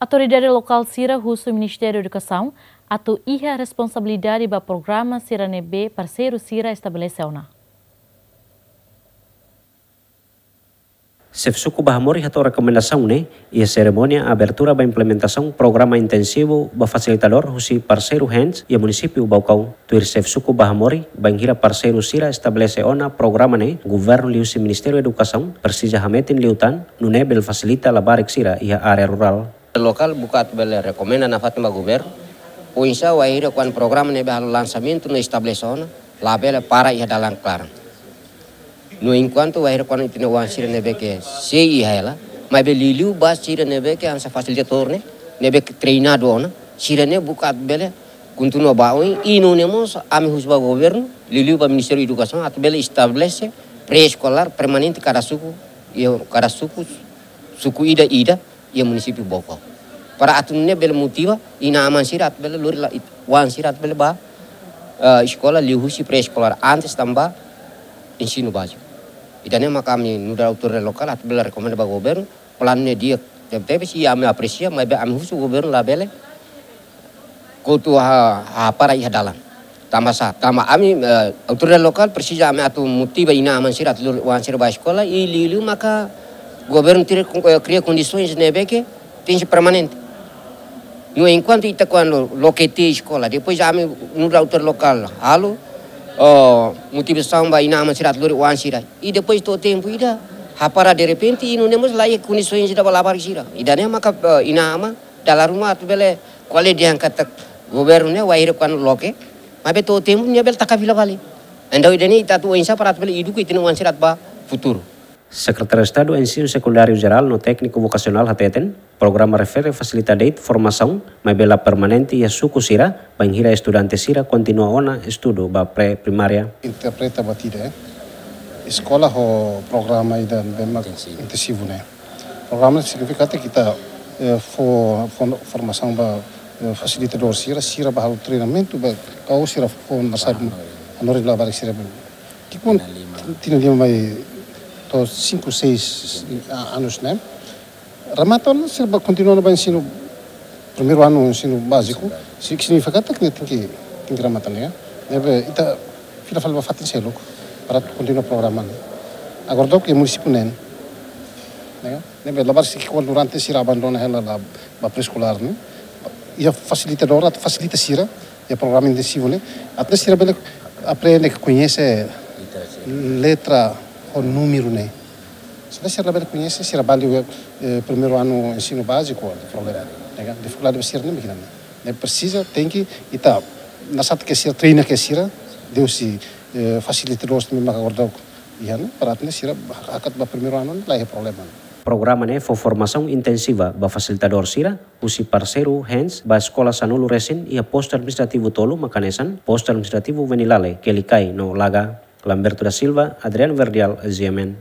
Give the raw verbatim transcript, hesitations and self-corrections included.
Autoridade lokál sira husu Ministériu Edukasaun atu iha responsabilidade ba programa sira ne'ebé parseiru sira estabelese ona. Xefe Suku Bahamori hato'o rekomendasaun ne'e iha serimónia abertura ba implementasaun programa intensivu ba fasilitadór husi parseiru HANDS iha munisípiu Baucau. Tuir Xefe Suku Bahamori, bainhira parseiru sira estabelese ona programa ne'e, governu liuhusi Ministériu Edukasaun presiza hametin liután nune'e bele fasilita labarik sira iha área rurál. Lokál buka atu bele rekomenda nafatin ba governu, oinsá wainhira kuandu programa ne'ebé halo lansamentu no estabelese ona, labele para iha dalan klaran. No enkuantu wainhira kuandu ita-nia oan sira ne'ebé ke sei iha hela, maibé liuliu ba sira ne'ebé ke hanesan fasilitadór ne'e, ne'ebé ke treinadu ona, sira ne'e buka atu bele kontinua ba oin, i nune'e mós ami husu ba governu, liuliu ba Ministériu Edukasaun, atu bele estabelese pré-eskolár permanente kada suku, iha kada suku, suku ida-ida, iha munisípiu Baucau. Para atu nune'e bele motiva inan-aman sira atu bele lori la it-, oan sira atu bele ba, eh, eskola liuhusi pré-eskolár antes tanba ensinu báziku. Ida-ne'e maka ami nu'udar autoridade lokál atu bele rekomenda ba governu, planu ne'e di'ak tebetebes, i ami apresia, maibé ami husu governu labele kotu ha, hapara iha dalan. Tanba sá, tanba ami, eh, autoridade lokál presiza ami atu motiva inan-aman sira atu lori oan sira ba eskola, i liuliu maka governu tenke, eh, kria kondisaun ne'ebé ke tenke permanente. No enkuantu ita kuandu loke tiha eskola, depois ami nu'udar autoridade lokál halo, oh, motivasaun ba inan-aman sira atu lori oan sira. I depois to'o tempu ida, hapara derrepente, i nune'e mós laiha kondisaun ida ba labarik sira. Ida-ne'e maka, eh, inan-aman dala ruma atu bele ko'alia dehan katak governu ne'e wainhira kuandu loke, maibé to'o tempu nia bele taka fila fali. Entaun ida-ne'e ita atu oinsá para atu bele eduka ita-nia oan sira atu ba futuru. Sekretáriu Estadu Ensinu Sekundáriu Jerál no Tékniku Vokasionál hateten, programa refere fasilita de'it formasaun, maibé la permanente iha suku sira, bainhira estudante sira kontinua ona estudu ba pré-primária. Interpreta batida, eh. Eskola ho programa ida ne'ebé mak intensivu ne'e. Programa signifika katak ita, eh, fó, fó formasaun ba, eh, fasilitadór sira, sira bá halo treinamentu ba, kau sira fó nasar hanorin labarik sira. Ki'ikoan tinan lima mai to'o sinku, seis, ah, anus ne'e. Remata ona sira bá kontinua ona ba ensinu, primeiru anu ensinu báziku. Báziku. Si-, signifika katak nia tenke, tenke remata ne'e. Ne'ebé ita fila fali ba fatin seluk para kontinua programa ne'e. Agora daudaun iha munisípiu neen. Ne'e, ne'ebé labarik sira ki'ikoan durante sira abandona hela la ba pré-eskolár ne'e. Iha fasilitadór atu fasilita sira iha programa intensivu ne'e. Atu nune'e sira bele aprende, koñese letra ho númeru ne'e. Se sira labele koñese, sira bá liu, eh, primeiru anu ensinu báziku, problema. Ne'e ka, difikuldade ba sira ne'e mak ne'e. Ne'e presiza, tenke, ita, nasaun ke sira, treina ke sira, liuhusi, eh, fasilitadór ne'ebé maka agora daudaun iha ne'e, para atu nune'e sira hakat ba primeiru anu, la iha problema. Programa ne'e fó formasaun intensiva ba fasilitadór sira, husi parseiru HANDS ba eskola sanulu resin iha postu administrativu tolu mak hanesan, postu administrativu Venilale, Quelicai no Laga. Lamberto da Silva, Adriano Verdial, G M N.